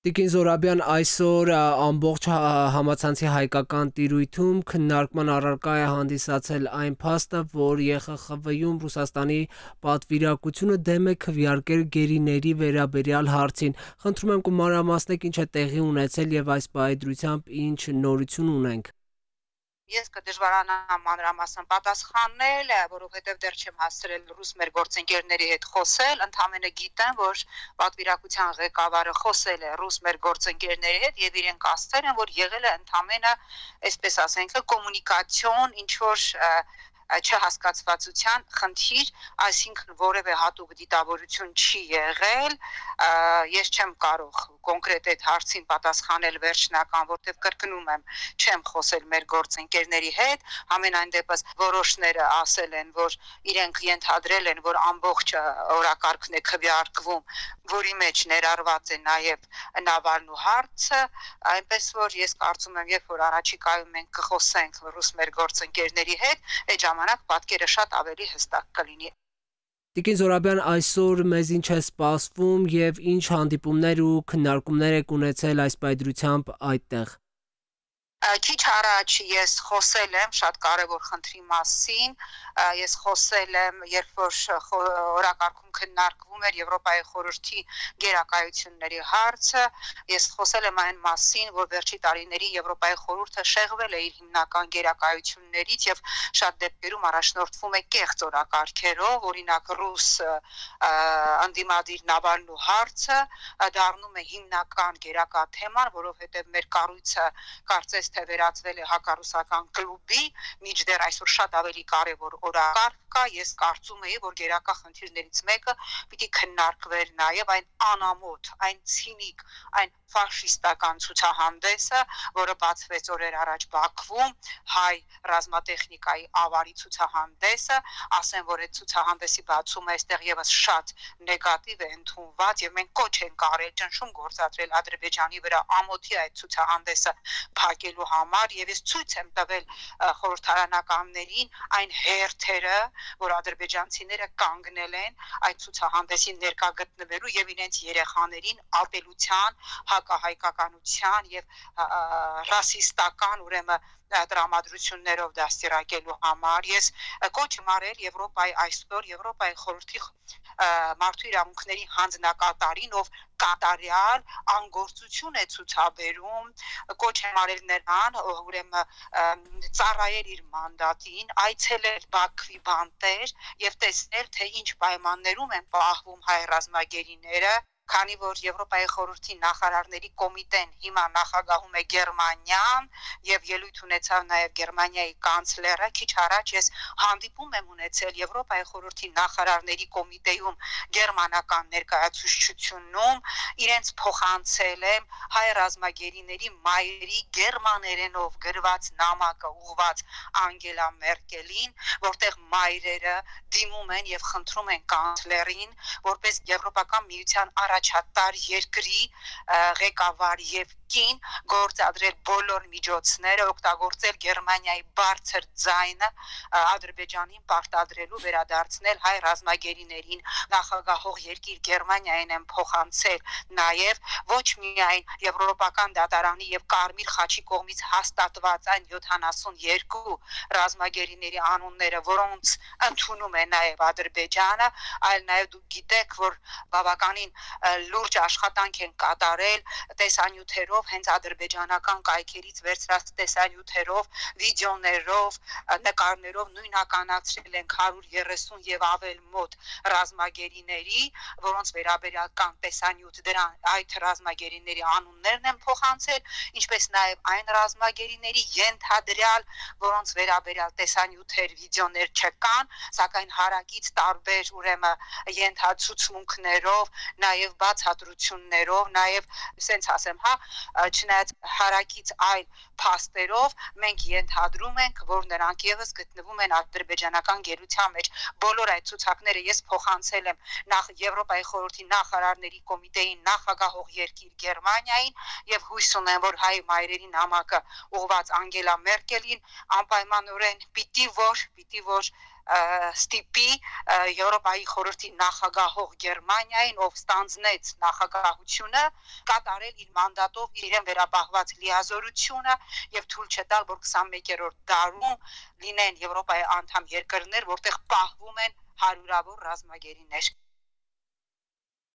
Տիկին Զորաբյան, այսօր ամբողջ համացանցի հայկական տիրույթում քննարկման առարկա է հանդիսացել այն փաստը, որ ԵԽԽՎ-ում Ռուսաստանի պատվիրակությունը դեմ է քվեարկել գերիների վերաբերյալ հարցին։ Խնդրում եմ կմանրամասնեք ինչ է տեղի ունեցել եւ այս բարդությամբ ինչ նորություն ունենք։ Ես կդժվարանամ մանրամասն պատասխանել, որովհետև դեռ չեմ հասցրել ռուս մեր գործընկերների հետ խոսել, ընդամենը գիտեմ, որ պատվիրակության ղեկավարը խոսել է ռուս մեր գործընկերների հետ եւ իրենք ասել են, որ եղել է ընդամենը, այսպես ասենք, կոմունիկացիոն, ինչ որ չհասկացվածության խնդիր, այսինքն որևէ հատուկ դիտավորություն չի եղել, ես չեմ կարող կոնկրետ այդ հարցին պատասխանել վերջնական, որտեղ կրկնում եմ, չեմ խոսել մեր գործընկերների հետ, համենայն դեպս որոշները ասել են, որ իրենք ենթադրել են, որ ամբողջ օրակարգն է քվեարկվում, որի մեջ ներառված է նաև Նավալնու հարցը, այնպես որ ես կարծում եմ, երբ որ առաջիկայում մենք կխոսենք ռուս մեր գործընկերների հետ, այդ ժամանակ պատկերը շատ ավելի հստակ կլինի։ Տիկին Զորաբյան, այսօր մեզ ինչ է սպասվում եւ ինչ հանդիպումներ ու քննարկումներ եք ունեցել այս բարդությամբ այդտեղ։ Քիչ առաջ ես խոսել եմ շատ կարևոր խնդրի մասին, ես խոսել եմ, երբ որ օրակարգում քննարկվում էր Եվրոպայի խորհրդի գերակայությունների հարցը, ես խոսել եմ այն մասին, որ վերջի տարիների Եվրոպայի խորհուրդը շեղվել է իր հիմնական գերակայություններից եւ շատ դեպքերում առաջնորդվում է կեղծ օրակարգերով, օրինակ ռուս անդիմադիր Նավալնու հարցը դառնում է հիմնական գերակա թեման, որովհետեւ մեր կառույցը կարծես թե վերածվել է հակառուսական կլուբի, միջդեռ այսօր շատ ավելի կարևոր օրակարգ կա, ես կարծում եի, որ գերակա խնդիրներից մեկը պիտի քննարկվեր նաև այն անամոթ, այն ցինիկ, այն ֆաշիստական ցուցահանդեսը, որը բացվեց օրեր առաջ Բաքվում, հայ ռազմատեխնիկայի ավարի ցուցահանդեսը, ասեմ, որ այդ ցուցահանդեսի բացումը այստեղ եւս շատ նեգատիվ է ընդունված եւ մենք կոչ ենք արել ճնշում գործադրել Ադրբեջանի վրա ամոթի այդ ցուցահանդեսը փակելու համար եւ ես ցույց եմ տվել խորհրդարանականներին այն հերթերը, որ ադրբեջանցիները կանգնել են այդ ցուցահանդեսին ներկա գտնվելու եւ իրենց երեխաներին ապելության, հակահայկականության եւ ռասիստական ուրեմն տրամադրություններով դաստիարակելու համար ես կոչ եմ արել Եվրոպայի այսօր Եվրոպայի խորհրդի մարդու իրավունքների հանձնակատարին, ով կատարյալ անգործություն է ցուցաբերում, կոչ եմ արել նրան, ուրեմն ծառայել իր մանդատին, այցելել Բաքվի բանտեր եւ տեսնել, թե ինչ պայմաններում են պահվում հայ ռազմագերիները, քանի որ Եվրոպայի խորհրդի նախարարների կոմիտեն հիմա նախագահում է Գերմանիան եւ ելույթ ունեցավ նաեւ Գերմանիայի կանցլերը, քիչ առաջ ես հանդիպում եմ ունեցել Եվրոպայի խորհրդի նախարարների կոմիտեում գերմանական ներկայացուցչությունում, իրենց փոխանցել եմ հայ ռազմագերիների մայրերի գերմաներենով գրված նամակը ուղված Անգելա Մերկելին, որտեղ մայրերը դիմում են եւ խնդրում են կանցլերին, որպես Եվրոպական միության առաջատար երկրի ղեկավար եւ կին գործադրել բոլոր միջոցները, օգտագործել Գերմանիայի բարձր ձայնը Ադրբեջանին պարտադրելու վերադարձնել հայ ռազմագերիներին, նախագահող երկիր Գերմանիային են փոխանցել նաեւ ոչ միայն Եվրոպական դատարանի եւ Կարմիր խաչի կողմից հաստատված այն 72 ռազմագերիների անունները, որոնց ընդունում է նաեւ Ադրբեջանը, այլ նաեւ դուք գիտեք, որ բավականին լուրջ աշխատանք են կատարել տեսանյութերով, հենց ադրբեջանական կայքերից վերցրած տեսանյութերով, վիդեոներով, նկարներով նույնականացրել են 130 եւ ավել մոտ ռազմագերիների, որոնց վերաբերյալ կան տեսանյութ, դրան այդ ռազմագերիների անուններն են փոխանցել, ինչպես նաեւ այն ռազմագերիների ենթադրյալ, որոնց վերաբերյալ տեսանյութեր, վիդեոներ չկան, սակայն հարակից տարբեր ուրեմն ենթացուցմունքներով, նաեւ բացատրություններով, նաեւ սենց ասեմ, չնայած հարակից այլ փաստերով մենք ենթադրում ենք, որ նրանք եւս գտնվում են ադրբեջանական գերության մեջ։ Բոլոր այդ ցուցակները ես փոխանցել եմ նախ Եվրոպայի խորհրդի նախարարների կոմիտեին նախագահող երկիր Գերմանիային եւ հույս ունեմ, որ հայ մայրերի նամակը ուղված Անգելա Մերկելին անպայմանորեն պիտի որ ստիպի Եվրոպայի խորհրդի նախագահող Գերմանիային, ով ստանձնեց նախագահությունը, կատարել իր մանդատով իրեն վերապահված լիազորությունը եւ թույլ չտալ, որ 21-րդ դարում լինեն Եվրոպայի անդամ երկրներ, որտեղ պահվում են հարյուրավոր ռազմագերիներ։